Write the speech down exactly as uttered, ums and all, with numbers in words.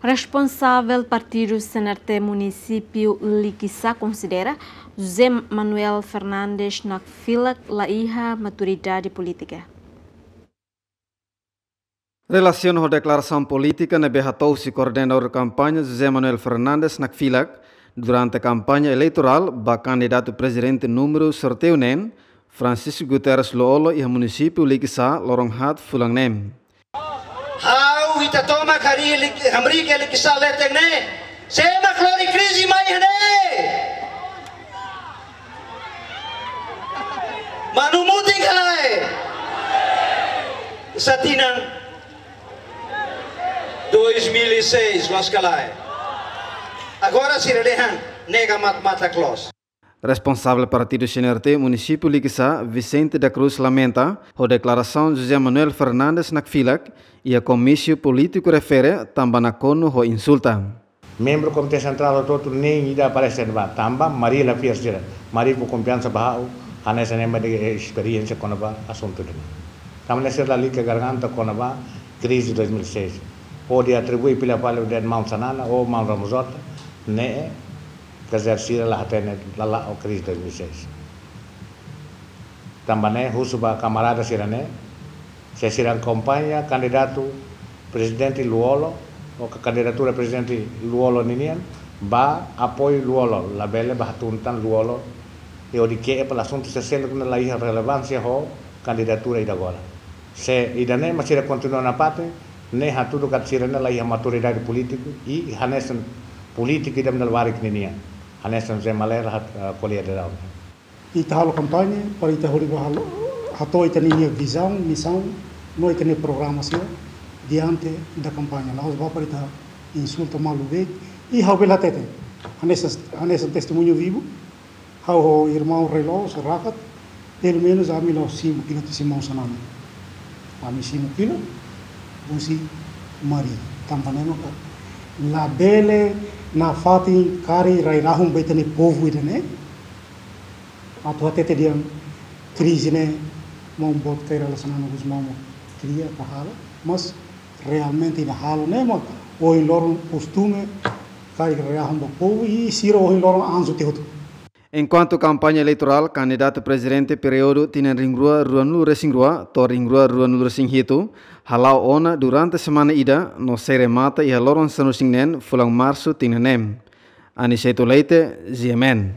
Responsavel partidu C N R T munisípiu Likisá konsidera José Manuel Fernandes Nakfilak la iha maturidade polítika. Relasiona ho deklarasaun polítika ne'ebé hato'o husi koordenadór kampaña José Manuel Fernandes Nakfilak durante kampaña eleitorál ba kandidatu prezidente númeru sorteiu neen, Francisco Guterres Lú-Olo, iha munisípiu Likisá loron haat fulan neen. Ha'u ita tomak harii lik-, hamriik iha Likisá leten ne'e. Sé mak lori krize mai iha ne'e? Manu Mutin ka lae? Sá tinan dois mil e seis, loos ka lae? Agora sira dehan nega mat-, matak loos. Responsavel partidu C N R T munisípiu Likisá, Vicente da Cruz, lamenta ho deklarasaun José Manuel Fernandes Nakfilak iha komísiu polítiku refere tanba nakonu ho insulta. Membru Komité Sentrál hotu-hotu nein ida aparese ba, tanba Mari la fiar sira. Mari fó konfiansa ba ha'u, hanesan ema de esperiénsia kona-ba asuntu ida-ne'e. Tanba ne'e sira lalika garganta kona-ba krize dois mil e seis. Hodi atribui fila fali dehan maun Xanana ou maun Ramos Horta, ne'e, quer dizer, sira la hatene lala'o krize dois mil e seis. Tanba ne'e husu ba kamarada sira-ne'e, se sira akompaña kandidatu prezidente Lú-Olo, ou ka kandidatura prezidente Lú-Olo ninian, bá apoiu Lú-Olo, labele bá hatún tan Lú-Olo, i hodi ke'e fali asuntu sira seluk ne'ebé la iha relevánsia ho kandidatura ida agora. Se ida-ne'e mak sira kontinua nafatin, ne'e hatudu katak sira-ne'e la iha maturidade polítiku, i hanesan polítiku ida-ne'ebé labarik ninian, hanesan Zé Manuel hat-, eh, ko'alia daudaun. Ita halo kampaña para ita hodi bá halo, hato'o ita-nia vizaun, misaun, no ita-nia programa sira diante da kampaña. La'ós bá para ita insulta malu be. I ha'u bele hatete, hanesan, hanesan testemuñu vivu, ha'u ho irmaun Rei Loos, Rakat, pelumenus ami la'o simu fila husi maun Xanana. Ami simu fila husi Mari. Tanba ne'e maka labele nafatin karik rai-rahun ba ita-nia povu ida-ne'e. Atu hatete dehan krize ne'e maun boot Kay Rala Xanana Gusmão mak kria ka halo, mas realmente ida halo ne'e mak ohin loron kostume karik rai-rahun ba povu i sira ohin loron anju tiha hotu. Enkuantu kampaña eleitorál kandidatu prezidente períodu tinan rihun rua ruanulu resin rua to'o rihun rua ruanulu resin hitu hala'o ona durante semana ida no sei remata iha loron sanulu-resin-neen fulan Marsu tinan ne'e. Aniceto Leite, G M N.